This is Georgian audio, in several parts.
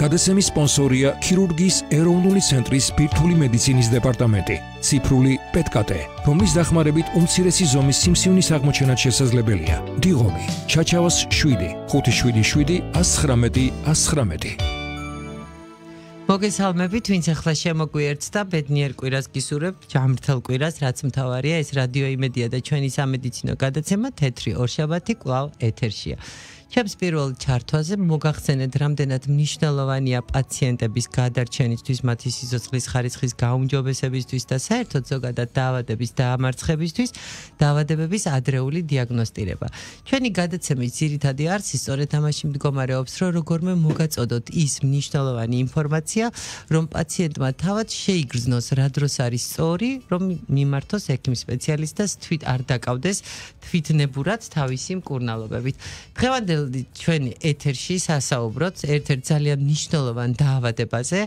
გადაცემის სპონსორია ქირურგიის ეროვნული ცენტრის ბირთვული მედიცინის დეპარტამენტი, ციფრული პეტკატე, რომლის დახმარებით უმცირესი ზომის სიმსივნის აღმოჩენაც შესაძლებელია. დიღომი, ჩაჩავას 7, 577 119 119. მოგესალმებით, ვინც ახლა შემოგვიერთდა, ბედნიერ კვირას გისურვებთ, ჯანმრთელ კვირას, რაც მთავარია, ეს რადიო იმედია და ჩვენი სამედიცინო გადაცემა თეთრი ორშაბათი კვლავ ეთერშია. ჩემს პირველ ჩართვაზე მოგახსენეთ, რამდენად მნიშვნელოვანია პაციენტების გადარჩენისთვის, მათი სიცოცხლის ხარისხის გაუმჯობესებისთვის და საერთოდ ზოგადად დაავადების დაამარცხებისთვის, დაავადებების ადრეული დიაგნოსტირება. ჩვენი გადაცემის ძირითადი არსი სწორედ ამაში მდგომარეობს, რომ როგორმე მოგაწოდოთ ის მნიშვნელოვანი ინფორმაცია, რომ პაციენტმა თავად შეიგრძნოს, რა დროს არის სწორი, რომ მიმართოს ექიმ სპეციალისტს და თვით არ დაკავდეს თვითნებურად თავისი მკურნალობებით. დღევანდელ ჩვენი ეთერში სასაუბროთ ერთ-ერთ ძალიან მნიშვნელოვან დაავადებაზე,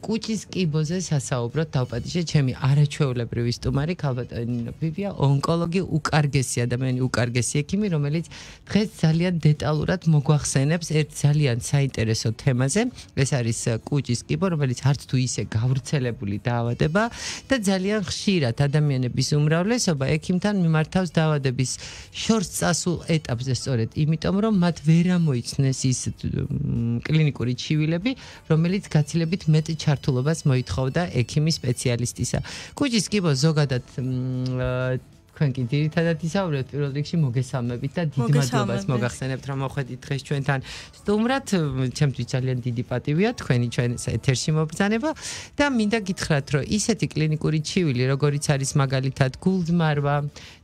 კუჭის კიბოზე სასაუბროთ. დავპატიჟე ჩემი არაჩვეულებრივი სტუმარი ქალბატონი ბიბია, ონკოლოგი, უკარგესი ადამიანი, უკარგესი ექიმი, რომელიც დღეს ძალიან დეტალურად მოგვახსენებს ერთ ძალიან საინტერესო თემაზე. ეს არის კუჭის კიბო, რომელიც არც თუ ისე გავრცელებული დაავადება და ძალიან ხშირად ადამიანების უმრავლესობა ექიმთან მიმართავს დაავადების შორს წასულ ეტაპზე სწორედ იმიტომ, რომ მათ ვერ ამოიცნეს ის კლინიკური ჩივილები, რომელიც გაცილებით მეტ ჩართულობას მოითხოვდა ექიმის სპეციალისტისა. კუჭის კიბო ზოგადად თქვენ კი ძირითადად ისაუბრებთ პირველ რიგში მოგესალმებით და დიდ მადლობას მოგახსენებთ, რომ მოხვედით დღეს ჩვენთან სტუმრად. ჩემთვის ძალიან დიდი პატივია თქვენი ჩვენ ეთერში მობრძანება და მინდა გითხრათ, რომ ისეთი კლინიკური ჩივილი, როგორიც არის მაგალითად გულდმარვა,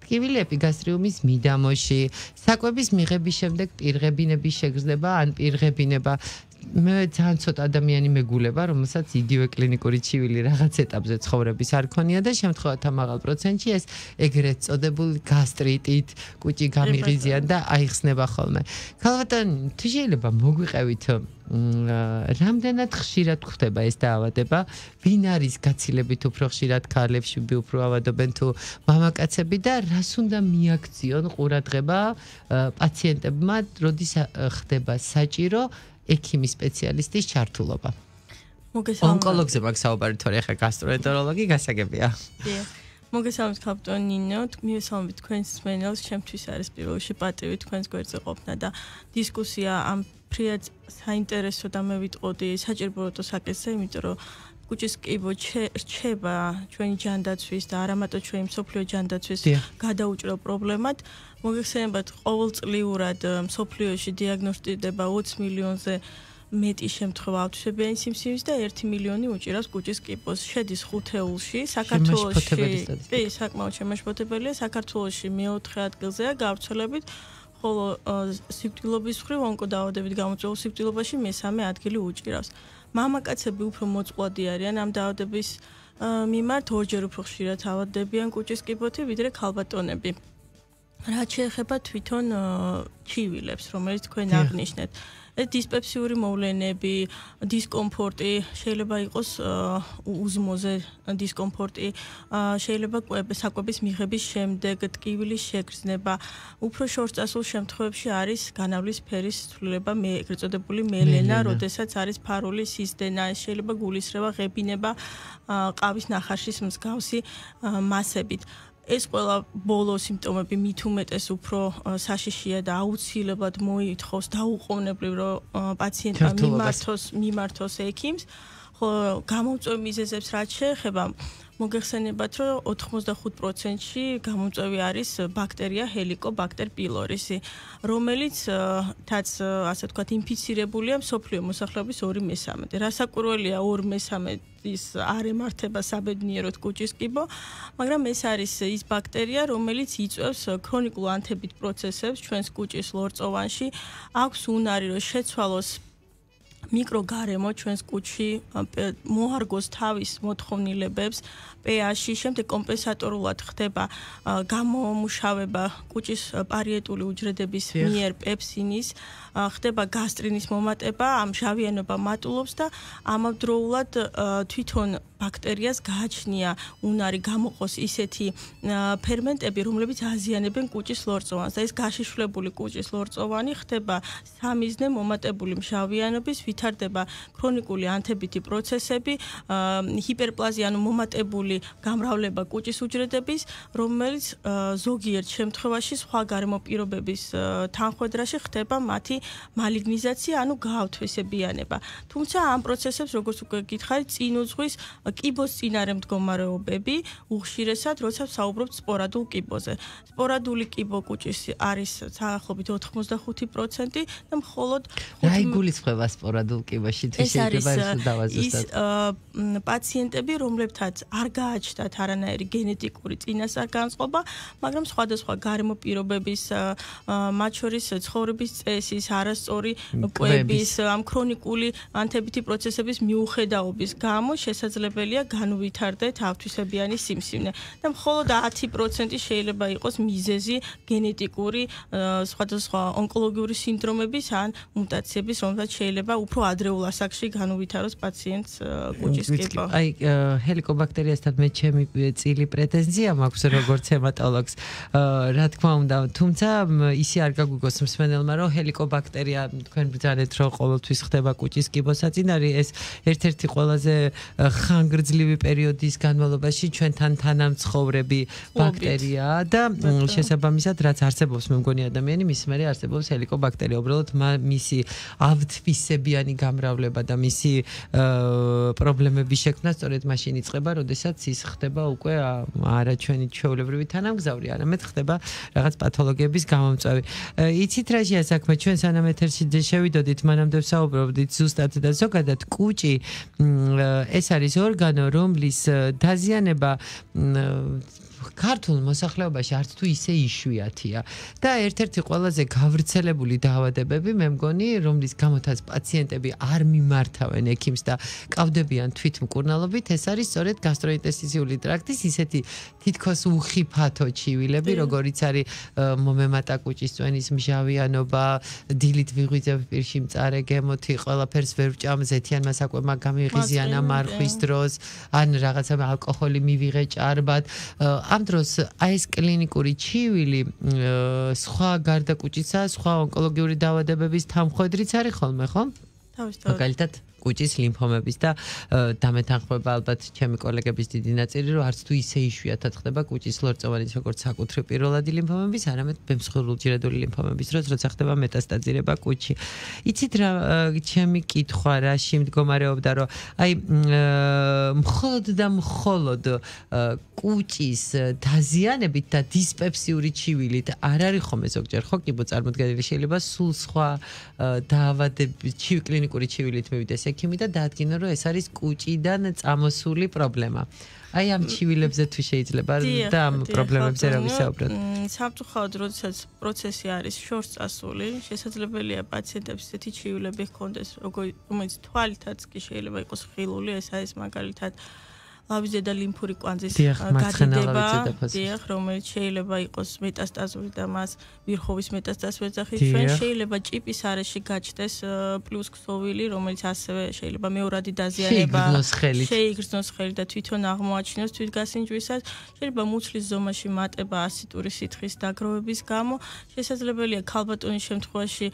ტკივილი ეპიგასტრიუმის მიდამოში, საკვების მიღების შემდეგ პირღებინების შეგრძნება ან პირღებინება. მე ძალიან ცოტა ადამიანი მეგულება, რომელსაც იგივე კლინიკური ჩივილი რაღაც ეტაპზე ცხოვრების არ ქონია და შემთხვევათა მაღალ პროცენტში ეს ეგრეთ წოდებული გასტრიტით, კუჭი გამიღიზიან და აიხსნება ხოლმე. ქალბატონი, თუ შეიძლება მოგვიყევით რამდენად ხშირად გვხდება ეს დაავადება, ვინ არის გაცილებით უფრო ხშირად ქალებში უფრო ავადობენ თუ მამაკაცები და რას უნდა მიაქციონ ყურადღება პაციენტებმა, როდის ხდება საჭირო ექიმის სპეციალისტის ჩართულობა. ონკოლოგზე მაგ საუბარი თორე ხა გასტროენტეროლოგი გასაგებია. მოგესალმებით ქალბატონი ნინო, მივესალმებით თქვენს მსმენელს, ჩემთვის არის პირველ რიგში პატივი თქვენს გვერდზე ყოფნა და დისკუსია ამ ფრიად საინტერესო და მე ვიტყოდი საჭიროებო საკითხზე, იმიტომ რომ კუჭის კიბო რჩება ჩვენი ჯანდაცვის და არა მარტო ჩვენი მსოფლიო ჯანდაცვის გადაუჭრელ პრობლემად. მოგეხსენებათ, ყოველწლიურად მსოფლიოში დიაგნოსტირდება 20 მილიონზე მეტი შემთხვევა ავტვისებიანი სიმსივნის და 1 მილიონი უჭირავს კუჭის კიბოს. შედის 5-ეულში, საქართველოში საკმაოდ შემაშფოთებელია, საქართველოში მე-4 ადგილზეა გავრცელებით, ხოლო სიკვდილობის მხრივ ონკოდაავადებით გამოწვეულ სიკვდილობაში მე-3 ადგილი უჭირავს. მამაკაცები უფრო მოწყვლადი არიან ამ დაავადების მიმართ, ორჯერ უფრო ხშირად ავადდებიან კუჭის კიბოთი, ვიდრე ქალბატონები. რაც შეეხება თვითონ ჩივილებს, რომელიც თქვენ აღნიშნეთ, დისპეპსიური მოვლენები, დისკომფორტი, შეიძლება იყოს უზმოზე დისკომფორტი, შეიძლება საკვების მიღების შემდეგ ტკივილის შეგრძნება, უფრო შორს წასულ შემთხვევებში არის განავლის ფერის ცვლილება, ეგრეთ წოდებული მელენა, როდესაც არის ფარული სისდენა, შეიძლება გულისრევა, ღებინება, ყავის ნახარშის მსგავსი მასებით. ეს ყველა ბოლო სიმპტომები მით უმეტეს უფრო საშიშია და აუცილებლად მოითხოვს დაუყოვნებლივ, რომ პაციენტმა მიმართოს ექიმს. ხოლო გამომწვევი მიზეზებს რაც შეეხება, მოგეხსენებათ, რომ 85%-ში გამომწვევი არის ბაქტერია Helicobacter pylori, რომელიც ასე ვთქვათ, ინფიცირებულია მსოფლიო მოსახლეობის 2/3. რასაკვირველია 2/3-ის არ ემართება საბედნიეროდ კუჭის კიბო, მაგრამ ეს არის ის ბაქტერია, რომელიც იწვევს ქრონიკულ ანთებით პროცესებს ჩვენს კუჭის ლორწოვანში, აქვს უნარი, რომ შეცვალოს მიკროგარემო ჩვენს კუჭში, მოარგოს თავის მოთხოვნილებებს, pH-ში, შემდეგ კომპენსატორულად ხდება გამომუშავება კუჭის პარიეტული უჯრედების მიერ პეპსინის, ხდება გასტრინის მომატება, ამჟავიანობა მატულობს და ამავდროულად თვითონ ბაქტერიას გააჩნია უნარი გამოყოს ისეთი ფერმენტები, რომლებიც აზიანებენ კუჭის ლორწოვანს და ეს გაშიშვლებული კუჭის ლორწოვანი ხდება სამიზნე მომატებული მჟავიანობის, ვითარდება ქრონიკული ანთებითი პროცესები, ჰიპერპლაზია, ანუ მომატებული გამრავლება კუჭის უჯრედების, რომელიც ზოგიერთ შემთხვევაში სხვა გარემო პირობების თანხვედრაში ხდება მათი მალიგნიზაცია, ანუ გაავთვისებიანება. თუმცა ამ პროცესებს, როგორც უკვე გითხარით, წინ უძღვის კიბოს წინარე მდგომარეობები, უხშირესად, როცა ვსაუბრობთ სპორადულ კიბოზე. სპორადული კიბო კუჭის არის საახლობით 85% და მხოლოდ რა იგულისხმება სპორადულ კიბოში? თუ შეიძლება ეს დავაზუსტოთ. პაციენტები, რომლებთაც არ გააჩნდათ არანაირი გენეტიკური წინასწარ-განწყობა, მაგრამ სხვადასხვა გარემო პირობების, მათ შორის ცხოვრების წესის, არასწორი კვების, ამ ქრონიკული ანთებითი პროცესების მიუხედავობის გამო შესაძლებელია განუვითარდეთ ავთვისებიანი სიმსივნე და მხოლოდ 10% შეიძლება იყოს მიზეზი გენეტიკური სხვადასხვა ონკოლოგიური სინდრომების ან მუტაციების, რომელსაც შეიძლება უფრო ადრეულ ასაკში განუვითაროს პაციენტს კუჭის კიბო. აი, ჰელიკობაქტერიასთან მე ჩემი წილი პრეტენზია მაქვს როგორც ჰემატოლოგს. რა თქმა უნდა, თუმცა ისე არ გაგვიგოს მსმენელმა, რომ ჰელიკობაქტერია თქვენ ბრძანეთ, რომ ყოველთვის ხდება კუჭის კიბოსაწინარი, ეს ერთ-ერთი ყველაზე ხანგრძლივი პერიოდის განმავლობაში ჩვენთან თანამცხოვრები ბაქტერიაა და შესაბამისად რაც არსებობს მე მგონი ადამიანი მის მერე არსებობს ჰელიკობაქტერია. უბრალოდ მისი ავთვისებიანი გამრავლება და მისი პრობლემების შექმნა სწორედ მაშინ იწყება, როდესაც ის ხდება უკვე არა ჩვენი ჩვეულებრივი თანამგზავრი, არამედ ხდება რაღაც პათოლოგიების გამომწვევი. იცით რაშია საქმე? ჩვენ სანამ ეთერში შევიდოდით, მანამდე ვსაუბრობდით ზუსტად და ზოგადად კუჭი ეს არის ორგანო, რომლის დაზიანება ქართულ მოსახლეობაში არც თუ ისე იშვიათია და ერთ-ერთი ყველაზე გავრცელებული დაავადებები მე მგონი, რომლის გამოთაც პაციენტები არ მიმართავენ ექიმს და კავდებიან თვითმკურნალობით, ეს არის სწორედ გასტროინტესტიციული ტრაქტის ისეთი თითქოს უხიფათო ჩივილები, როგორიც არის მომემატა კუჭის წვენის მჟავიანობა, დილით ვიღვიძებ პირში მწარე გემოთი, ყველაფერს ვერ ვჭამ, ზეთიანმა საკვებმა გამიღიზიანა მარხვის დროს, ან რაღაცა ალკოჰოლი მივიღე ჭარბად. ამ დროს აი ეს კლინიკური ჩივილი სხვა გარდა კუჭისა, სხვა ონკოლოგიური დაავადებების თანხმედრიც არის ხოლმე, ხო? თავისთავად. მაგალითად კუჭის ლიმფომების და დამეთანხმება ალბათ ჩემი კოლეგების დიდი ნაწილი, რომ არც თუ ისე იშვიათად ხდება კუჭის ლორწოვანის როგორც საკუთრივ პირველადი ლიმფომების, არამედ ბემსხვილუჯრედული ლიმფომების დროს, როცა ხდება მეტასტაზირება კუჭში. იცით რა ჩემი კითხვა რაში მდგომარეობდა, რომ აი მხოლოდ და მხოლოდ კუჭის დაზიანებით და დისპეპსიური ჩივილით არ არის ხომ ზოგჯერ ხო კიბო წარმოდგენილი, შეიძლება სულ სხვა დაავადების კლინიკური ჩივილით მივიდეს ექიმი და დაადგინა, რომ ეს არის კუჭიდან წამოსული პრობლემა. აი ამ ჩივილებზე თუ შეიძლება და ამ პრობლემებზე რა ვისაუბროთ. სამწუხაროდ, როდესაც პროცესი არის შორს წასული, შესაძლებელია პაციენტებს ესეთი ჩივილები ჰქონდეს, რომელიც თვალითაც კი შეიძლება იყოს ხილული, ეს არის მაგალითად ლავიზე და ლიმფური კვანძის გადიდება, რომელიც შეიძლება იყოს მეტასტაზური და მას ვირხოვის მეტასტაზური ეძახის. ჩვენ შეიძლება ჭიპის არეში გაჩნდეს პლუს ქსოვილი, რომელიც ასევე შეიძლება მეორადი დაზიანება შეიგრძნოს ხელი და თვითონ აღმოაჩინოს თვითგასინჯვისას. შეიძლება მუცლის ზომაში მატება ასიტური სითხის დაგროვების გამო. შესაძლებელია ქალბატონის შემთხვევაში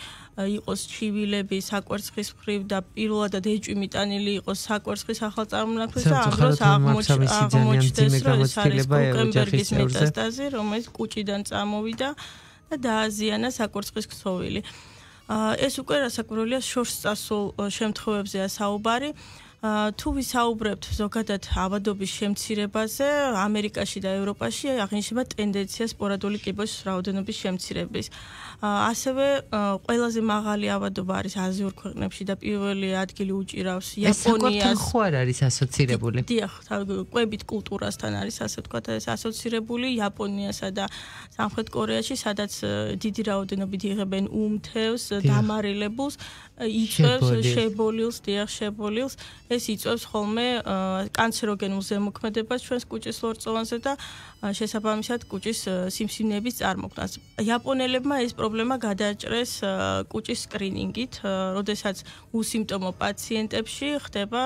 იყოს ჩივილები საკვერცხის მხრივ და პირველადად ეჭვი მიტანილი იყოს საკვერცხის ახალწარმონაქმნის და ამ დროს აღმოჩნდეს, რომ ეს არის კუკენბერგის მეტასტაზი, რომელიც კუჭიდან წამოვიდა და დააზიანა საკვერცხის ქსოვილი. ეს უკვე რასაკვირველია შორს წასულ შემთხვევებზეა საუბარი. თუ ვისაუბრებთ ზოგადად ავადობის შემცირებაზე, ამერიკაში და ევროპაში აღინიშნება ტენდენცია სპორადული კიბოს რაოდენობის შემცირების. ასევე ყველაზე მაღალი ავადობა არის აზიურ ქვეყნებში და პირველი ადგილი უჭირავს იაპონიას. ეს ხო არ არის ასოცირებული? დიახ, კვებით კულტურასთან არის ასე ვთქვათ, ეს ასოცირებული იაპონიასა და სამხრეთ კორეაში, სადაც დიდი რაოდენობით იღებენ უმთევს, დამარილებულს, იწვევს შებოლილს, დიახ, შებოლილს. ეს იწვევს ხოლმე კანცეროგენულ ზემოქმედებას ჩვენს კუჭის ლორწოვანზე და შესაბამისად კუჭის სიმსივნეების წარმოქმნას. იაპონელებმა ეს პრობლემა გადაჭრეს კუჭის სკრინინგით, როდესაც უსიმპტომო პაციენტებში ხდება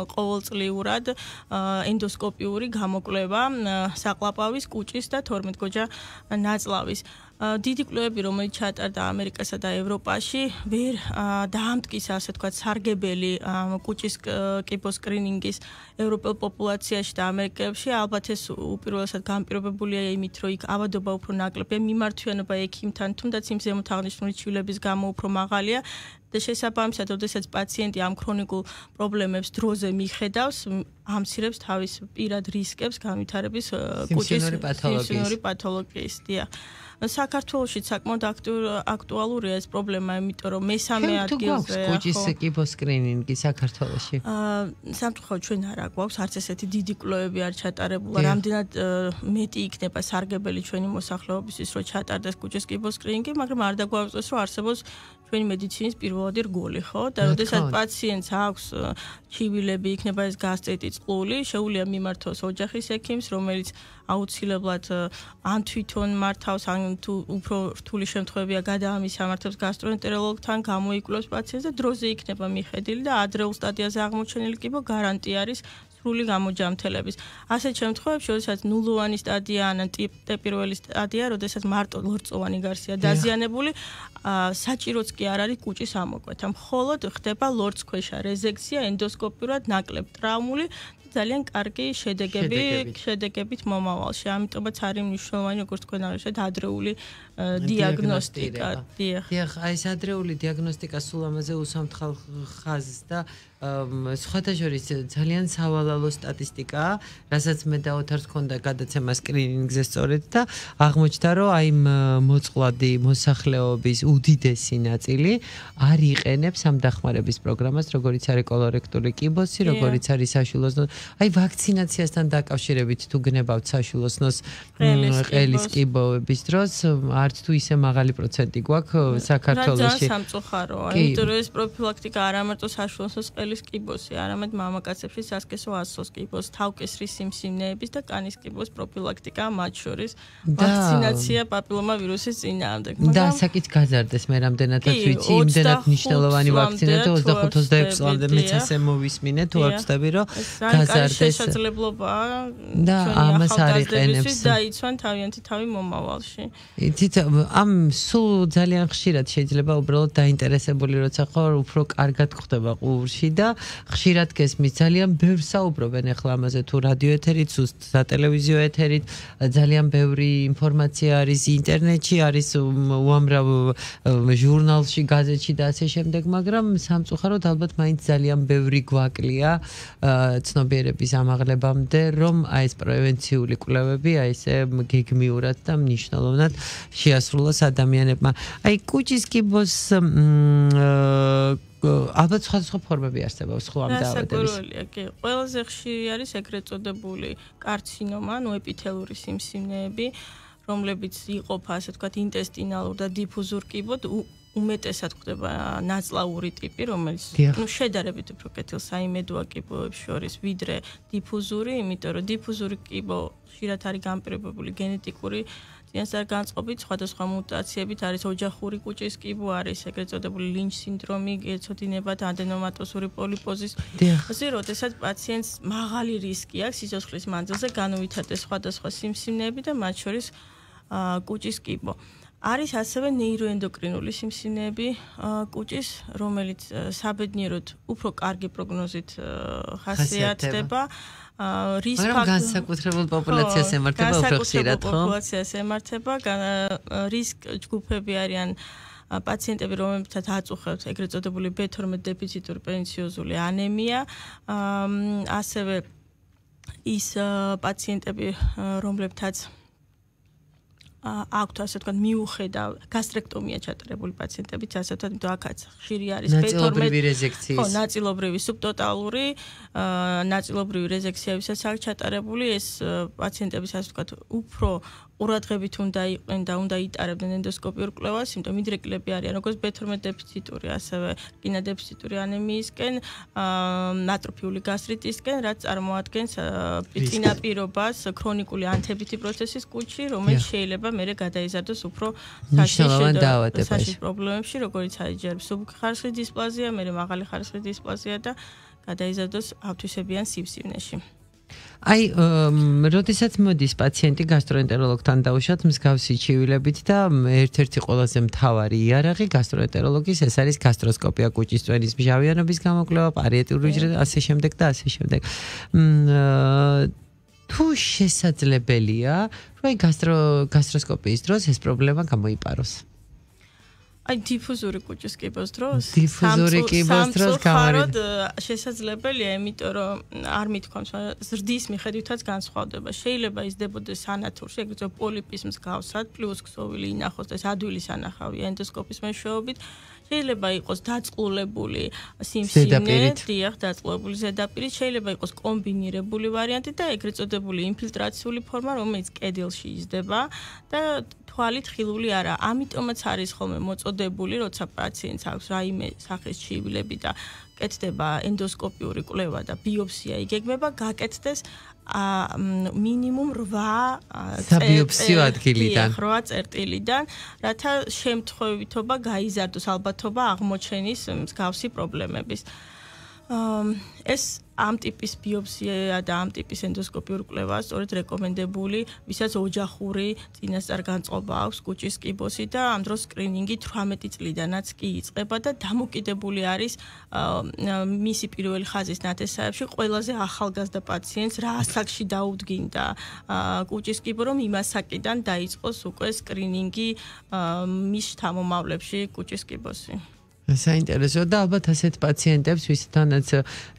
ყოველწლიურად ენდოსკოპიური გამოკვლევა საყლაპავის, კუჭის და 12 გოჯა ნაწლავის. დიდი კვლევები, რომელიც ჩატარდა ამერიკასა და ევროპაში, ვერ დაამტკიცა, ასე ვთქვათ, სარგებელი კუჭის კიბოს სკრინინგის ევროპელ პოპულაციაში და ამერიკებში. ალბათ ეს უპირველესად განპირობებულია იმით, რომ იქ ავადობა უფრო ნაკლებია, მიმართვიანობა ექიმთან, თუნდაც იმ ზემოთ აღნიშნული ჩვილების გამო უფრო მაღალია. და შესაბამისად, როდესაც პაციენტი ამ ქრონიკულ პრობლემებს დროზე მიხედავს, ამცირებს თავის პირად რისკებს განვითარების კუჭის სიმსივნური პათოლოგიის. საქართველოში საკმაოდ აქტუალურია ეს პრობლემა, იმიტომ რომ მესამე ადგილზე კუჭის კიბოს სკრინინგი საქართველოში. სამწუხაროდ ჩვენ არ აგვაქვს არც ესეთი დიდი კვლევები არ ჩატარებულა. რამდენად მეტი იქნება სარგებელი ჩვენი მოსახლეობისთვის, რომ ჩატარდეს კუჭის კიბოს სკრინინგი, მაგრამ არ დაგვაუწყდეს, რომ არსებობს ჩვენი მედიცინის პირველადი რგოლი, ხო? და როდესაც პაციენტს აქვს ჩივილები, იქნება ეს გასტრიტი, წყლული, შეუძლია მიმართოს ოჯახის ექიმს, რომელიც აუცილებლად ან თვითონ მართავს, ან თუ უფრო რთული შემთხვევებია გადაამის სამართებს გასტროენტეროლოგთან, გამოიკვლევს პაციენტს და დროზე იქნება მიხედილი და ადრეულ სტადიაზე აღმოჩენილი კიბო გარანტია არის სრული გამოჯამთელების. ასეთ შემთხვევებში, როდესაც ნულოვანი სტადია ან პირველი სტადია, როდესაც მარტო ლორწოვანი გარსია დაზიანებული, საჭიროც კი არ არის კუჭის ამოკვეთა. მხოლოდ ხდება ლორწქვეშა რეზექცია, ენდოსკოპიურად ნაკლებ ტრაუმული ძალიან კარგი შედეგებით მომავალში. ამიტომაც არის მნიშვნელოვანი, როგორც თქვენ აღნიშნეთ, ადრეული დიაგნოსტიკა. დიახ, აი ეს ადრეული დიაგნოსტიკა სულ ამაზე უსამთქალ ხაზს და სხვათა შორის ძალიან სავალალო სტატისტიკაა, რასაც მე და ოთარს ჰქონდა გადაცემა სკრინინგზე სწორედ და აღმოჩნდა, რომ აი მოწყვლადი მოსახლეობის უდიდესი ნაწილი არ იყენებს ამ დახმარების პროგრამას, როგორიც არის კოლორექტული კიბოსი, როგორიც არის საშვილოსნო. აი ვაქცინაციასთან დაკავშირებით თუ გნებავთ საშვილოსნოს ყელის კიბოების დროს, არც თუ ისე მაღალი პროცენტი გვაქვს საქართველოში. ძალიან სამწუხაროა, იმიტომ რომ ეს პროფილაქტიკა არ ამარტო საშვილოსნოს ყელის კიბოსი, არამედ მამაკაცებში სასქესო ასოს კიბოს, თავკისრის სიმსივნეების და კანის კიბოს პროფილაქტიკა, მათ შორის ვაქცინაცია პაპილომავირუსის წინააღმდეგ. და საკით გაზარდეს მე რამდენადაც ვიცი, იმდენად მნიშვნელოვანი ვაქცინა და 25-26 წლამდე მეც ასე მოვისმინე, თუ არ ვწდები, რომ გაზარდეს შესაძლებლობაა და ამას არ იყენებს. დაიცვან თავიანთი თავი მომავალში. იცით, ამ სულ ძალიან ხშირად შეიძლება უბრალოდ დაინტერესებული როცა ხარ, უფრო კარგად ხდება ყურში და ხშირად გესმის. ძალიან ბევრს საუბრობენ ახლა ამაზე, თუ რადიო ეთერით, სატელევიზიო ეთერით, ძალიან ბევრი ინფორმაცია არის ინტერნეტში, არის უამრავ ჟურნალში, გაზეთში და ასე შემდეგ, მაგრამ სამწუხაროდ ალბათ მაინც ძალიან ბევრი გვაკლია ცნობიერების ამაღლებამდე, რომ აი ეს პრევენციული კვლევები აი ესე გეგმიურად და მნიშვნელოვნად შეასრულოს ადამიანებმა. აი კუჭის კიბოს ალბათ სხვადასხვა ფორმები არსებობს ხო ამ დაავადების. კი, ყველაზე ხშირი არის ეგრეთ წოდებული კარცინომა, ანუ ეპითელური სიმსივნეები, რომლებიც იყოფა, ასე ვთქვათ, ინტესტინალურ და დიფუზურ კიბოდ. უმეტესად ხდება ნაწლავური ტიპი, რომელიც შედარებით უფრო კეთილსაიმედოა კიბოებს შორის, ვიდრე დიფუზური, იმიტომ რომ დიფუზური კიბო ხშირად არის განპირობებული გენეტიკური წინასწარ-განწყობით, სხვადასხვა მუტაციებით, არის ოჯახური კუჭის კიბო, არის ეგრეთ წოდებული ლინჩ სინდრომი, ეცოდინება და ადენომატოზური პოლიპოზის. ასე როდესაც პაციენტს მაღალი რისკი აქვს სიცოცხლის მანძილზე განუვითარდეს სხვადასხვა სიმსივნეები და მათ შორის კუჭის კიბო. არის ასევე ნეიროენდოკრინული სიმსივნეები კუჭის, რომელიც საბედნიეროდ უფრო კარგი პროგნოზით ხასიათდება. მაგრამ განსაკუთრებულ პოპულაციას ემართება უფრო ხშირად, ხო? პოპულაციას ემართება, რისკ ჯგუფები არიან პაციენტები, რომლებსაც აწუხებთ ეგრეთ წოდებული B12 დეფიციტური პერნიციოზული ანემია, ასევე ის პაციენტები, რომლებთაც აქვთ ასე ვთქვათ მიუხედავ გასტრექტომია ჩატარებული პაციენტებიც ასე ვთქვათ, იმიტომ აქაც ხშირი არის ნაწილობრივი რეზექციის. ხო, ნაწილობრივი სუბტოტალური, ნაწილობრივი რეზექციებისაც აქვს ჩატარებული ეს პაციენტების ასე ვთქვათ უფრო ყურადღებით უნდა იყვნენ და უნდა იტარებდნენ ენდოსკოპიურ კვლევას, იმიტომ მიდრეკილები არიან როგორც B12 დეფიციტური, ასევე რკინა დეფიციტური ანემიისკენ, ატროფიული გასტრიტისკენ, რაც წარმოადგენს წინაპირობას ქრონიკული ანთებითი პროცესის კუჭში, რომელიც შეიძლება მერე გადაიზარდოს უფრო საშიშ პრობლემებში, როგორც არის ჯერ მსუბუქი ხარისხის დისპლაზია, მერე მაღალი ხარისხის დისპლაზია და გადაიზარდოს ავთვისებიან სივსივნეში. აი, როდესაც მოდის პაციენტი გასტროენტეროლოგთან დაუშვათ მსგავსი ჩივილებით და ერთ-ერთი ყველაზე მთავარი იარაღი გასტროენტეროლოგის ეს არის გასტროსკოპია, კუჭის წვენის მჟავიანობის გამოკვლევა, პარიეტული უჯრედი, ასე შემდეგ და ასე შემდეგ. თუ შესაძლებელია, რომ გასტროსკოპიის დროს ეს პრობლემა გამოიპაროს. აი დიფუზური კუჭის კიბოს დროს გამართ შესაძლებელია, იმიტომ რომ არ მithქვამს, ზრდის მიხედვითაც განსხვავდება. შეიძლება იზრდებოდეს სანათურში, ეგრეთ წოდებული პოლიპის მსგავსად, პლუს ქსოვილი ინახოს და ეს ადვილი სანახავია ენდოსკოპის მეშვეობით. შეიძლება იყოს დაწყლულებული სიმსივნე, დიახ, დაწყლულებული ზედაპირით, შეიძლება იყოს კომბინირებული ვარიანტი და ეგრეთ წოდებული ინფილტრაციული ფორმა, რომელიც კედელში იზრდება და თვალით ხილული არა. ამიტომაც არის ხოლმე მოწოდებული, როცა პაციენტს აქვს რაიმე სახის ჩივილები და კეთდება ენდოსკოპიური კვლევა და ბიოპსია იგეგმება, გაკეთდეს მინიმუმ 8 საბიოპსიო ადგილიდან, 8 წერტილიდან, რათა შემთხვევითობა გაიზარდოს ალბათობა აღმოჩენის მსგავსი პრობლემების. ეს ამ ტიპის ბიოპსია და ამ ტიპის ენდოსკოპიურ კვლევა სწორედ რეკომენდებული, ვისაც ოჯახური წინასწარ განწყობა აქვს კუჭის კიბოსი და ამ დროს სკრინინგი 18 წლიდანაც კი იწყება და დამოკიდებული არის მისი პირველი ხაზის ნათესავებში ყველაზე ახალგაზრდა პაციენტს რა ასაკში დაუდგინდა კუჭის კიბო, რომ იმ ასაკიდან დაიწყოს უკვე სკრინინგი მის შთამომავლებში კუჭის კიბოსი. საინტერესო და ალბათ ასეთ პაციენტებს, ვისთანაც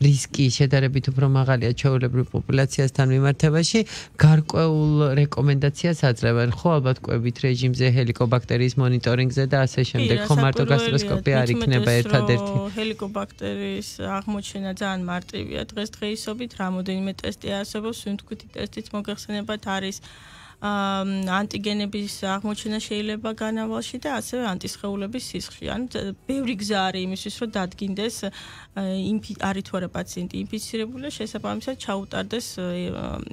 რისკი შედარებით უფრო მაღალია ჩვეულებრივ პოპულაციასთან მიმართებაში, გარკვეულ რეკომენდაციას აძლევენ, ხო ალბათ კვებით რეჟიმზე, ჰელიკობაქტერიის მონიტორინგზე და ასე შემდეგ, ხო მარტო გასტროსკოპია არ იქნება ერთადერთი. ჰელიკობაქტერიის აღმოჩენა ძალიან მარტივია დღესდღეობით, რამოდენიმე ტესტი არსებობს, სუნთქვითი ტესტიც მოგეხსენებათ არის ანტიგენების აღმოჩენა შეიძლება განავალში და ასევე ანტისხეულების სისხლში. ანუ ბევრი გზა არის იმისთვის, რომ დადგინდეს არის თუ არა პაციენტი ინფიცირებული, შესაბამისად ჩაუტარდეს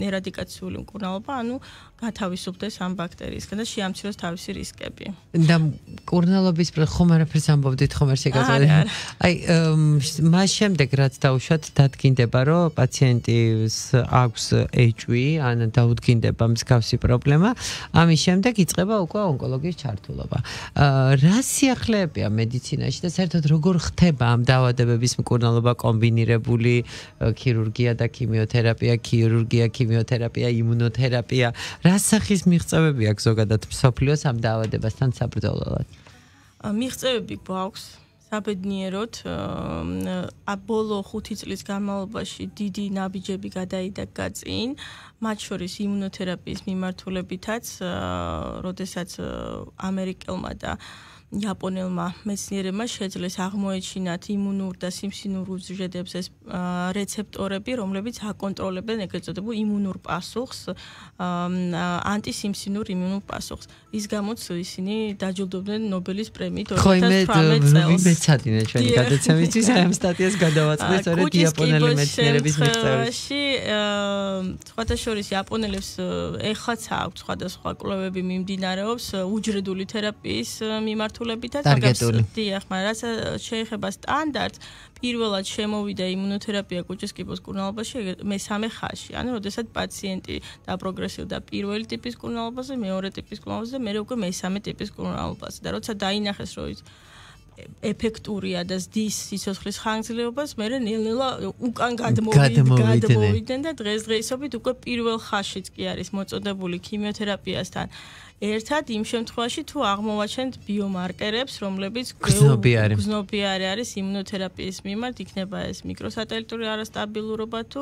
ერადიკაციული მკურნალობა, ანუ გათავისუფლდეს ამ ბაქტერიისგან და შეამციროს თავისი რისკები. და მკურნალობის ხომ არაფერს ამბობდით, ხომ არ შეგაწოდეთ. აი, მას შემდეგ რაც დაუშვათ დადგინდება, რომ პაციენტის აქვს HIV, ან დაუდგინდება მსგავსი პრობლემა, ამის შემდეგ იწყება უკვე ონკოლოგიის ჩართულობა. რა სიახლეებია მედიცინაში და საერთოდ როგორ ხდება ამ დაავადებების მკურნალობა, კომბინირებული ქირურგია და ქიმიოთერაპია, ქიმიოთერაპია, იმუნოთერაპია, რა სახის მიღწევები აქვს ზოგადად მსოფლიოს ამ დაავადებასთან საბრძოლველად? მიღწევები გვაქვს საბედნიეროდ, ბოლო 5 წლის განმავლობაში დიდი ნაბიჯები გადაიდაგა წინ, მათ შორის იმუნოთერაპიის მიმართულებითაც, როდესაც ამერიკელმა და იაპონელმა მეცნიერებმა შეძლეს აღმოეჩინათ იმუნურ და სიმსივნურ უჯრედებს ეს რეცეპტორები, რომლებიც აკონტროლებენ ეგრეთ წოდებულ იმუნურ პასუხს, ანტისიმსივნურ იმუნურ პასუხს. ის გამოც ისინი დაჯილდოვდნენ ნობელის პრემიით 2018 წელს. მეცადინე ჩვენი გადაცემისთვის ამ სტატიას გადავაწყდი სწორედ იაპონელი მეცნიერების მიღწევებში. სხვათა შორის იაპონელებს ეხლაც აქვს სხვადასხვა კვლევები მიმდინარეობს უჯრედული თერაპიის მიმართულებითაც, მაგრამ რაც შეეხება სტანდარტს, პირველად შემოვიდა იმუნოთერაპია კუჭის კიბოს მკურნალობაში მესამე ხაზში, ანუ როდესაც პაციენტი დაპროგრესირდა პირველი ტიპის მკურნალობაზე, მეორე ტიპის მკურნალობაზე და მერე უკვე მესამე ტიპის მკურნალობაზე და როცა დაინახეს, რომ ის ეფექტურია და ზდის სიცოცხლის ხანგრძლივობას, მერე ნელ-ნელა უკან გადმოვიდნენ და დღესდღეობით უკვე პირველ ხაზშიც კი არის მოწოდებული ქიმიოთერაპიასთან. ერთად იმ შემთხვევაში თუ აღმოვაჩენთ ბიომარკერებს, რომლებიც გზნობიარე არის იმუნოთერაპიის მიმართ, იქნება ეს მიკროსატელიტური არასტაბილურობა თუ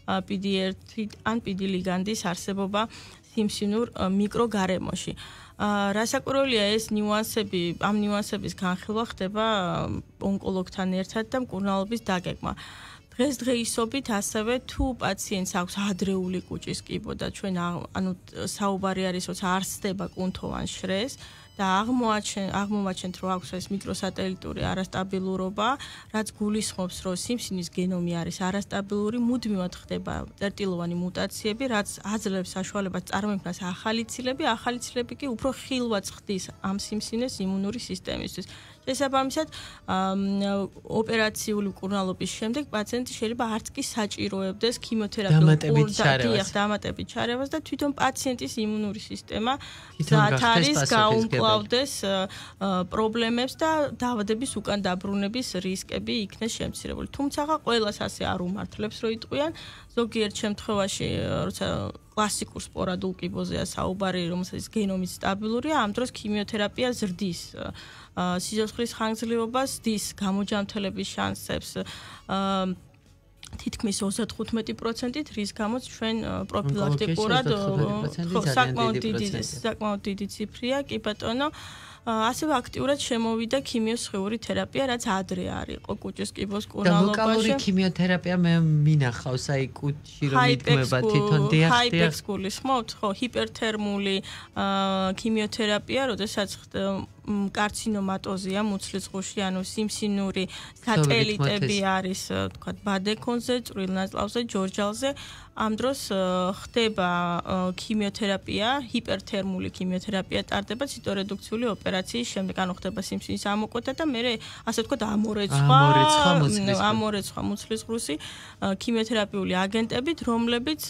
PD1 ან PD ლიგანდის არსებობა სიმსივნურ მიკროგარემოში. რასაკვირველია ეს ნიუანსები, ამ ნიუანსების განხილვა ხდება ონკოლოგთან ერთად და მკურნალობის დაგეგმა. დღესდღეობით ასევე თუ პაციენტს აქვს ადრეული კუჭის კიბო და ჩვენ ანუ საუბარი არის როცა არ სდება კუნთოვან შრეს და აღმოვაჩენთ რომ აქვს ეს მიკროსატელიტური არასტაბილურობა, რაც გულისხმობს რომ სიმსივნის გენომი არის არასტაბილური, მუდმივად ხდება წერტილოვანი მუტაციები, რაც აძლევს საშუალებას წარმოიქმნას ახალი ცილები კი უფრო ხილვად ხდის ამ სიმსივნეს იმუნური სისტემისთვის. შესაბამისად, ოპერაციული მკურნალობის შემდეგ პაციენტი შეიძლება არც კი საჭიროებდეს ქიმიოთერაპიულ დამატებით ჩარევას და თვითონ პაციენტის იმუნური სისტემა ზათ არის გაუმკლავდეს პრობლემებს და დაავადების უკან დაბრუნების რისკები იქნეს შემცირებული. თუმცა ყველას ასე არ უმართლებს რომ იტყვიან, ზოგიერთ შემთხვევაში, როცა კლასიკურ სპორადულ კიბოზეა საუბარი, რომელსაც გენომი სტაბილურია, ამ დროს ქიმიოთერაპია ზრდის სიცოცხლის ხანგრძლივობას, ზრდის გამოჯანმრთელების შანსებს თითქმის 35%-ით, რის გამოც ჩვენ პროფილაქტიკურად საკმაოდ დიდი ციფრია, კი ბატონო. ასევე აქტიურად შემოვიდა ქიმიოსხეული თერაპია, რაც ადრე არ იყო კუჭის კიბოს კურნალობაში. ლოკალური ქიმიოთერაპია მე მინახავს, აი კუჭში რომ მიდგმება თვითონ ჰაიპექს გულისხმობთ, ხო, ჰიპერთერმული ქიმიოთერაპია, როდესაც კარცინომატოზია მუცლის ღუში, ანუ სიმსივნური სატელიტები არის, თქვა, ბადეკონზე, წვრილ ნაწლავზე, ჯორჯალზე. ამ დროს ხდება ქიმიოთერაპია, ჰიპერთერმული ქიმიოთერაპია ტარდება ციტორედუქციული ოპერაციის შემდეგ, ანუ ხდება სიმსივნის ამოკვეთა და მე ასე ვთქვათ ამორეცხვა მუცლის ღრუსი ქიმიოთერაპიული აგენტებით, რომლებიც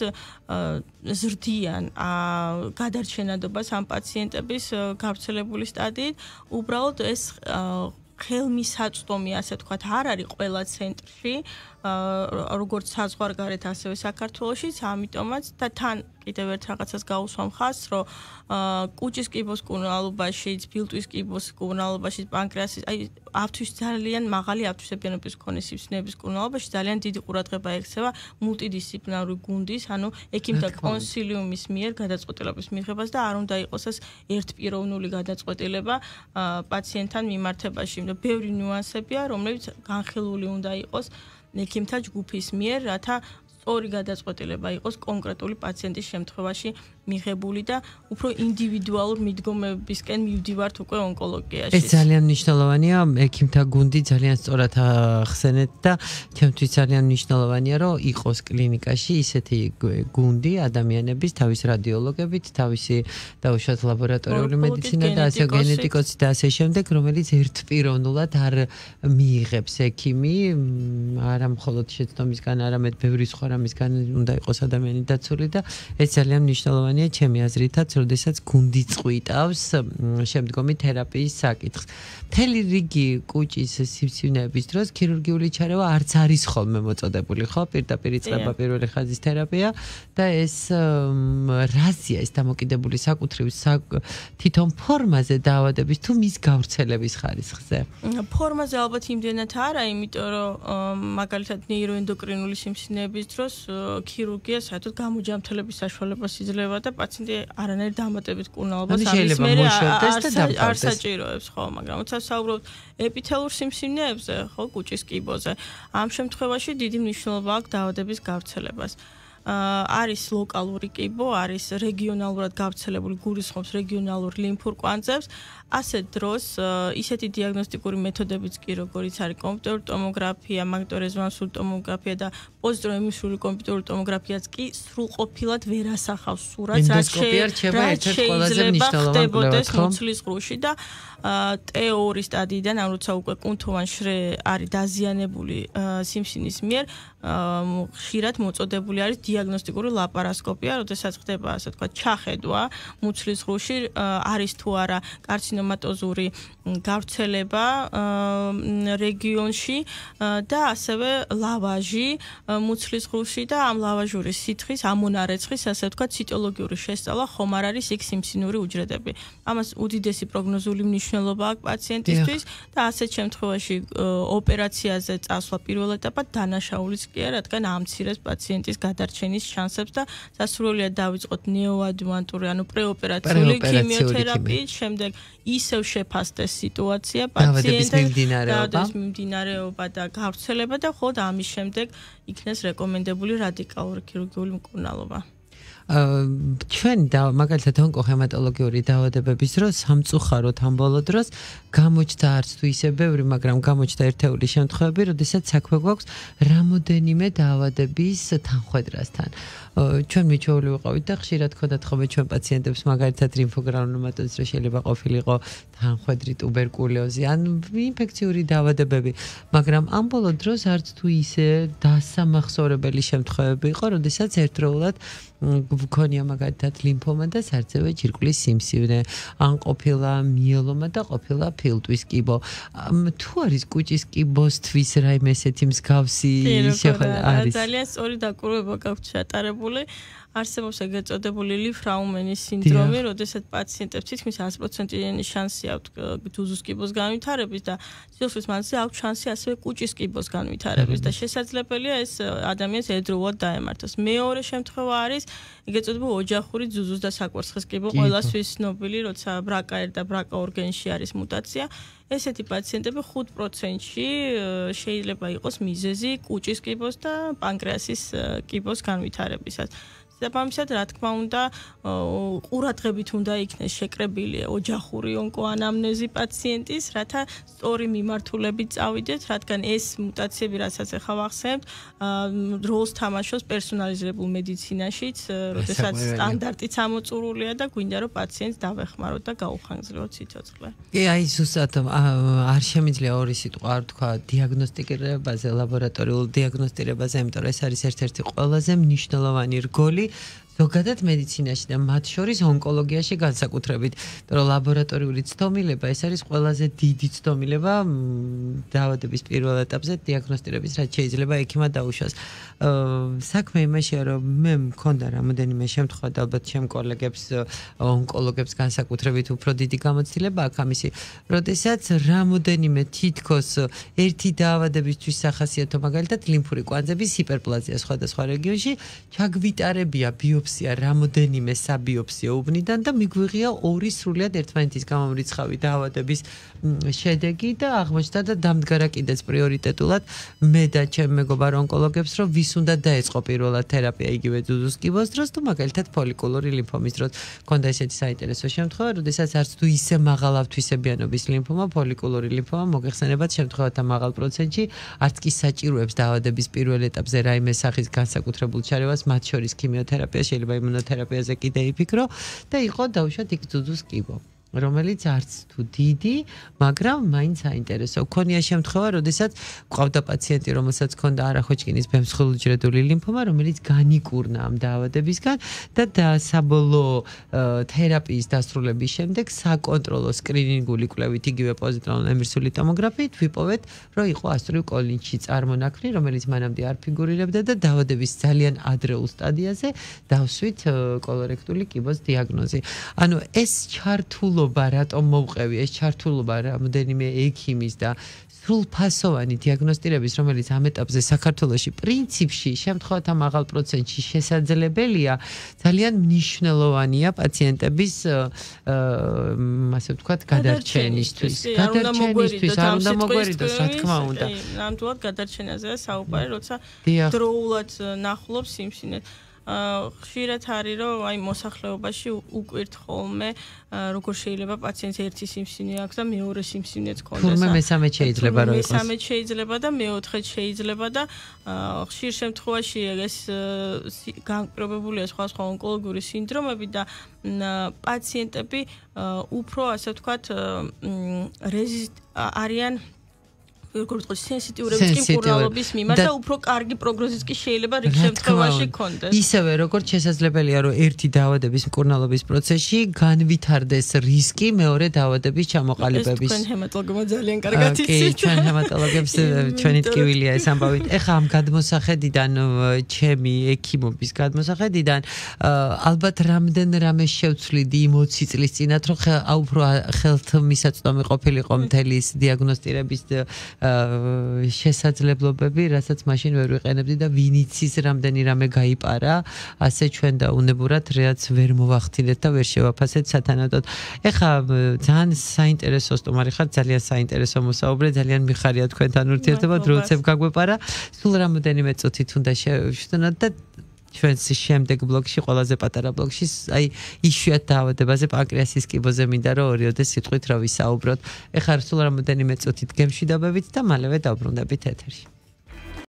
ზრდიან გადარჩენადობას ამ პაციენტების გავრცელებული სტადიით. უბრალოდ ეს ხელმისაწვდომი, ასე ვთქვათ, არ არის ყველა ცენტრში, როგორც საზღვარგარეთ, ასევე საქართველოშიც, ამიტომაც და თან კიდევ ერთ რაღაცას გაუსვამ ხაზს, რომ კუჭის კიბოს კურნალობაში, ბილტვის კიბოს კურნალობაში, პანკრეასის, აი ავთვის ძალიან მაღალი ავთვისებიანობის მქონე სიმსივნეების კურნალობაში ძალიან დიდი ყურადღება ექცევა მულტიდისციპლინარული გუნდის, ანუ ექიმთა კონსილიუმის მიერ გადაწყვეტილების მიღებას და არ უნდა იყოს ეს ერთპიროვნული გადაწყვეტილება პაციენტთან მიმართებაში. ბევრი ნიუანსებია, რომლებიც განხილული უნდა იყოს ექიმთა ჯგუფის მიერ, რათა სწორი გადაწყვეტილება იყოს კონკრეტული პაციენტის შემთხვევაში მიღებული და უფრო ინდივიდუალურ მიდგომებისკენ მივდივართ უკვე ონკოლოგიაში. ეს ძალიან მნიშვნელოვანია, ექიმთა გუნდი ძალიან სწორად ახსენეთ და ჩემთვის ძალიან მნიშვნელოვანია, რომ იყოს კლინიკაში ისეთი გუნდი ადამიანების, თავის რადიოლოგებით, თავისი დაუშვათ ლაბორატორიული მედიცინა და ასე გენეტიკოსი და ასე შემდეგ, რომელიც ერთპიროვნულად არ მიიღებს ექიმი, არა მხოლოდ შეცდომისგან, არამედ ბევრი სხვა რამისგან უნდა იყოს ადამიანი დაცული და ეს ძალიან მნიშვნელოვანია ჩემი აზრითაც, როდესაც გუნდი წყვიტავს შემდგომი თერაპიის საკითხს. მთელი რიგი კუჭის სიმსივნეების დროს ქირურგიული ჩარევა არც არის ხოლმე მოწოდებული, ხო? პირდაპირ იწყება პირველი ხაზის თერაპია და ეს რაზია ეს დამოკიდებული საკუთრივ თვითონ ფორმაზე დაავადების თუ მის გავრცელების ხარისხზე? ფორმაზე ალბათ იმდენად არა, იმიტომ რომ მაგალითად ნეიროენდოკრინული სიმსივნეების დროს ქირურგია საერთოდ გამოჯანმრთელების საშუალებას იძლევა და პაციენტი არანაირ დამატებით კურნალობას ამის მერე არ საჭიროებს, ხო, მაგრამ როცა საუბრობთ ეპითელურ სიმსივნეებზე, ხო, კუჭის კიბოზე, ამ შემთხვევაში დიდი მნიშვნელობა აქვს დაავადების გავრცელებას. არის ლოკალური კიბო, არის რეგიონალურად გავრცელებული, გულისხმობს რეგიონალურ ლიმფურ კვანძებს, ასეთ დროს ისეთი დიაგნოსტიკური მეთოდებიც კი, როგორიც არის კომპიუტერული ტომოგრაფია, მაგნიტორეზონანსული ტომოგრაფია და პოზიტროემისიური კომპიუტერული ტომოგრაფიაც კი სრულყოფილად ვერ ასახავს სურათს, რაც შეიძლება ხდებოდეს მუცლის ღრუში და T2 სტადიიდან, ან როცა უკვე კუნთოვან შრე არის დაზიანებული სიმსივნის მიერ, ხშირად მოწოდებული არის დიაგნოსტიკური ლაპარასკოპია, როდესაც ხდება, ასე ვთქვათ, ჩახედვა მუცლის ღრუში, არის თუ არა კარცინომატოზური გავრცელება რეგიონში და ასევე ლავაჟი მუცლის ღრუში და ამ ლავაჟური სითხის, ამონარეცხის, ასე ვთქვათ, ციტოლოგიური შესწავლა ხომ არ არის იქ სიმსივნური უჯრედები. ამას უდიდესი პროგნოზული მნიშვნელობა აქვს პაციენტისთვის და ასეთ შემთხვევაში ოპერაციაზე წასვლა პირველ ეტაპად დანაშაულიც კი არა, რადგან ამცირებს პაციენტის გადარჩენის შანსებს და სასურველია დავიწყოთ ნეოადჯუვანტური, ანუ პრეოპერაციული ქიმიოთერაპიით, შემდეგ ისევ შეფასდეს სიტუაცია, პაციენტის მიმდინარეობა და გავრცელება და მხოლოდ ამის შემდეგ იქნეს რეკომენდებული რადიკალური ქირურგიული მკურნალობა. ჩვენ და მაგალითად ონკოჰემატოლოგიური დაავადებების დროს სამწუხაროდ ამ ბოლო დროს გამოჩნდა არც თუ ისე ბევრი, მაგრამ გამოჩნდა ერთეული შემთხვევები, როდესაც საქმე გვაქვს რამოდენიმე დაავადების თანხვედრასთან. ჩვენ მიჩვეული ვიყავით და ხშირად ხოდათ ხოლმე ჩვენ პაციენტებს მაგალითად ლიმფოგრანულომატოზი, რომ შეიძლება ყოფილიყო თანხვედრი, ტუბერკულოზი, ან ინფექციური დაავადებები, მაგრამ ამ ბოლო დროს არც თუ ისე დასამახსოვრებელი შემთხვევები იყო, როდესაც ერთდროულად გქონია მაგალითად ლიმფომა და სარძევე ჯირკვლის სიმსივნე, ან ყოფილა მიელომა და ყოფილა ფილტვის კიბო. თუ არის კუჭის კიბოსთვის რაიმე ესეთი მსგავსი შეხვედრა არის? ძალიან სწორი დაკვირვება გაქვთ ჩატარებული. არსებობს ეგრეთ წოდებული ლიფ-რაუმენის სინდრომი, როდესაც პაციენტებს თითქმის 100%-იანი შანსი აქვთ ძუძუს კიბოს განვითარების და სიცოცხლის მანძილზე აქვთ შანსი ასევე კუჭის კიბოს განვითარების და შესაძლებელია ეს ადამიანს ერთდროულად დაემართოს. მეორე შემთხვევა არის ეგრეთ წოდებული ოჯახური ძუძუს და საკვერცხის კიბო, ყველასთვის ცნობილი, როცა BRCA1 და BRCA2 გენში არის მუტაცია. ესეთი პაციენტები 5%-ში შეიძლება იყოს მიზეზი კუჭის კიბოს და პანკრეასის კიბოს განვითარებისას. Sapamsat რა თქმა უნდა ყურადღებით უნდა იქნეს შეკრებილი ოჯახური ონკოანამნეზი პაციენტის, რათა სწორი მიმართულებით წავიდეთ, რადგან ეს მუტაციები, რასაც ახლა ვახსენებთ, როლს თამაშობს პერსონალიზებულ მედიცინაშიც, როდესაც სტანდარტიც ამოწურულია და გვინდა რომ პაციენტს დავეხმაროთ და გაუხანგრძლივოთ სიცოცხლე. კი, აი ზუსტად არ შემიძლია ორი სიტყვა არ თქვა დიაგნოსტირებაზე, ლაბორატორიულ დიაგნოსტირებაზე, იმიტომ რომ ეს არის ერთ-ერთი ყველაზე მნიშვნელოვანი რგოლი ზოგადად მედიცინაში და მათ შორის ონკოლოგიაში განსაკუთრებით, რომ ლაბორატორიული ცდომილება ეს არის ყველაზე დიდი ცდომილება დაავადების პირველ ეტაპზე დიაგნოსტირების, რაც შეიძლება ექიმად დაუშვას. საქმე იმაშია, რომ მე მქონდა რამოდენიმე შემთხვევა და ალბათ ჩემ კოლეგებს ონკოლოგებს განსაკუთრებით უფრო დიდი გამოცდილება აქვს ამისი, როდესაც რამოდენიმე თითქოს ერთი დაავადებისთვის სახასიათო მაგალითად ლიმფური კვანძების ჰიპერპლაზია სხვადასხვა რეგიონში ჩაგვიტარებია ბიოპსია რამოდენიმე საბიოპსიო უბნიდან და მიგვიღია ორი სრულიად ერთმანეთის გამომრიცხავი დაავადების შედეგი და აღმოჩნდა და დამდგარა კიდეც პრიორიტეტულად მე და ჩემ მეგობარ ონკოლოგებს, რომ ვის უნდა დაეწყო პირველად თერაპია იგივე ძუძუს კიბოს დროს თუ მაგალითად ფოლიკულური ლიმფომის დროს. Ქონდა ესეთი საინტერესო შემთხვევა, როდესაც არც თუ ისე მაღალავთვისებიანობის ლიმფომა, ფოლიკულური ლიმფომა მოგეხსენებათ შემთხვევათა მაღალ პროცენტში არც კი საჭიროებს დაავადების პირველ ეტაპზე რაიმე სახის განსაკუთრებულ ჩარევას, მათ შორის ქიმიოთერაპია, შეიძლება იმუნოთერაპიაზე კიდე იფიქრო და იყო დაუშვათ იქ ძუძუს კიბო, რომელიც არც თუ დიდი, მაგრამ მაინც საინტერესო. ქონია შემთხვევა, როდესაც გვყავდა პაციენტი, რომელსაც ჰქონდა არახვეჭკინის ბემსხვილუჯრედული ლიმფომა, რომელიც განიკურნა ამ დაავადებისგან და საბოლოო თერაპიის დასრულების შემდეგ საკონტროლო სკრინინგული კვლევით იგივე პოზიტრონული ემირსული ტომოგრაფიით ვიპოვეთ, რომ იყო ასტრული კოლინში წარმონაქმნი, რომელიც მანამდე არ ფიგურირებდა და დაავადების ძალიან ადრეულ სტადიაზე დავსვით კოლორექტული კიბოს დიაგნოზი. ანუ ეს ჩართულობა რატომ მოვყევი, ეს ჩართულობა რამოდენიმე ექიმის და სრულფასოვანი დიაგნოსტირების, რომელიც ამ ეტაპზე საქართველოში პრინციპში შემთხვევათა მაღალ პროცენტში შესაძლებელია, ძალიან მნიშვნელოვანია პაციენტების ასე ვთქვათ გადარჩენისთვის. გადარჩენისთვის არ უნდა მოგვერიდოს, რა თქმა უნდა. ნამდვილად გადარჩენაზეა საუბარი, როცა დროულად ნახულობს სიმსივნეს. ხშირად არის რომ აი მოსახლეობაში უკვირთ ხოლმე როგორ შეიძლება პაციენტს ერთი სიმსივნე აქვს და მეორე სიმსივნეც ქონდეს. თურმე მესამე შეიძლება რომ იყოს. მესამე შეიძლება და მეოთხე შეიძლება და ხშირ შემთხვევაში ეს განპირობებულია სხვა ონკოლოგიური სინდრომები და პაციენტები უფრო ასე ვთქვათ არიან როგორ ვთქვათ, სენსიტიურების მკურნალობის მიმართ და უფრო კარგი პროგნოზიც კი შეიძლება რიგ შემთხვევაში ქონდეს. ისევე როგორც შესაძლებელია, რომ ერთი დაავადების მკურნალობის პროცესში განვითარდეს რისკი მეორე დაავადების ჩამოყალიბების. ეს თქვენ ჰემატოლოგებმა ძალიან კარგად იცით. კი, ჩვენ ჰემატოლოგებს ჩვენი ტკივილია ეს ამბავით. ეხლა ამ გადმოსახედიდან, ჩემი ექიმობის გადმოსახედიდან, ალბათ რამე შევცვლიდი 20 წლის წინათ, რომ უფრო ხელთმისაწვდომი ყოფილიყო მთელი ის დიაგნოსტირების შესაძლებლობები, რასაც მაშინ ვერ ვიყენებდი და ვინიცის რამდენი რამე გაიპარა, ასე ჩვენ და უნებურად რაც ვერ მოვახდინეთ და ვერ შევაფასეთ სათანადოდ. ეხლა ძალიან საინტერესო სტუმარი ხართ, ძალიან საინტერესო მოსაუბრე, ძალიან მიხარია თქვენთან ურთიერთობა, დროцеп გაგვეპარა. სულ რამოდენიმე წუთით უნდა შევშვნათ და ჩვენს შემდეგ ბლოგში, ყველაზე პატარა ბლოგში, აი იშვიათ დაავადებაზე, პანკრეასის კიბოზე მინდა რომ ორიოდე სიტყვით რა ვისაუბროთ. ეხლა სულ რამოდენიმე წუთით გემშვიდობებით და მალევე დავბრუნდებით ეთერში.